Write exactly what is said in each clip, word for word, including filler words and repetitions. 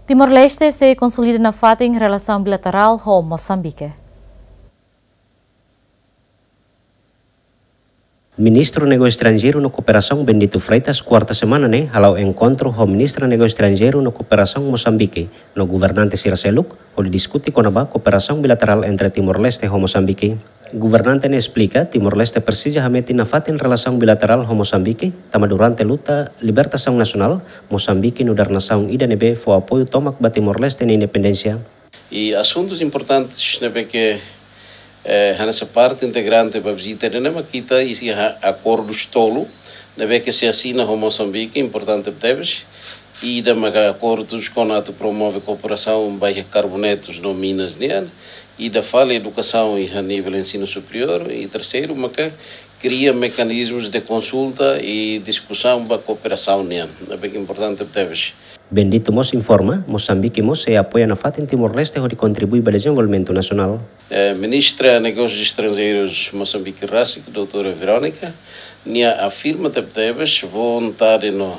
Timor-Leste sei konsolida nafatin relasaun bilaterál ho Mosambike. Ministru Negósiu Estranjeiru no Kooperasaun Bendito Freitas, kuarta semana ne'e, hala'o enkontru ho Ministra Negósiu Estranjeiru no Kooperasaun Mosambike, no governante sira seluk, hodi diskute kona-ba kooperasaun bilaterál entre Timor-Leste ho Mosambike. Governante ne'e esplika, Timor-Leste presiza hametin nafatin relasaun bilaterál ho Mosambike, tanba durante luta libertasaun nasionál, Mosambike nu'udar nasaun ida ne'ebé fó apoiu tomak ba Timor-Leste nia independénsia. I asuntus importantes ne'ebé ke, eh, hanesan parte integrante ba vizita ne'e mak ita iha akordus tolu, ne'ebé ke sei asina ho Mosambike, importante tebes. Ida maka akordus kona atu promove kooperasaun ba iha karbonetus no minas nian. Ida fali edukasaun iha nivel ensinu superiór. I terseiru maka kria mekanizmus de konsulta i diskusaun ba kooperasaun nian. Ne'ebé ke importante tebes. Bendito mós informa, Mosambike mós sei apoia nafatin Timor-Leste hodi kontribui ba dezenvolvimentu nasionál. Eh, Ministra Negósius Estranjeirus Mosambike rasik, doutora Verónica, nia afirma tebetebes vontade no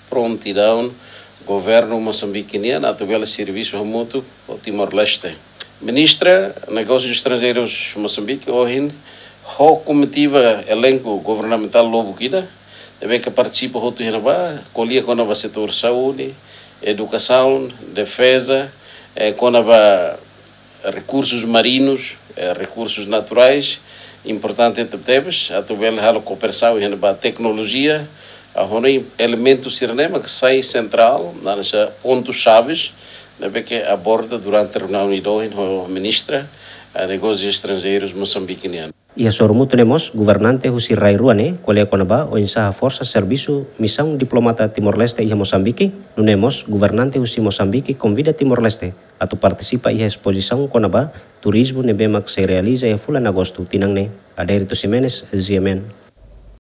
prontidaun governu Mosambike nian atu bele servisu hamutuk ho Timor-Leste. Ministra Negósius Estranjeirus Mosambike ohin ho komitiva elenku governamentál lubuk ida, ne'ebé ke partisipa hotu iha ne'ebá, ko'alia kona-ba setór saúde, edukasaun, defeza, eh, kona-ba rekursus marinus, eh, rekursus naturais, importante tebetebes, atu bele halo kooperasaun iha ne'ebá teknolojia, ah, ho elementus sira-ne'e mak sai sentrál, hanesan pontus xaves, ne'ebé ke aborda durante reuniaun ida ohin ho Ministra, eh, Negósius Estranjeirus Mosambike nian. Iha sorumutu ne'e mós, governante husi rai rua ne'e ko'alia kona-ba oinsá haforsa servisu misaun diplomata Timor-Leste iha Mosambike, nune'e mós governante husi Mosambike konvida Timor-Leste atu partisipa iha espozisaun kona-ba turizmu ne'ebé mak sei realiza iha fulan Agostu tinan ne'e. Adérito Ximenes, G M N.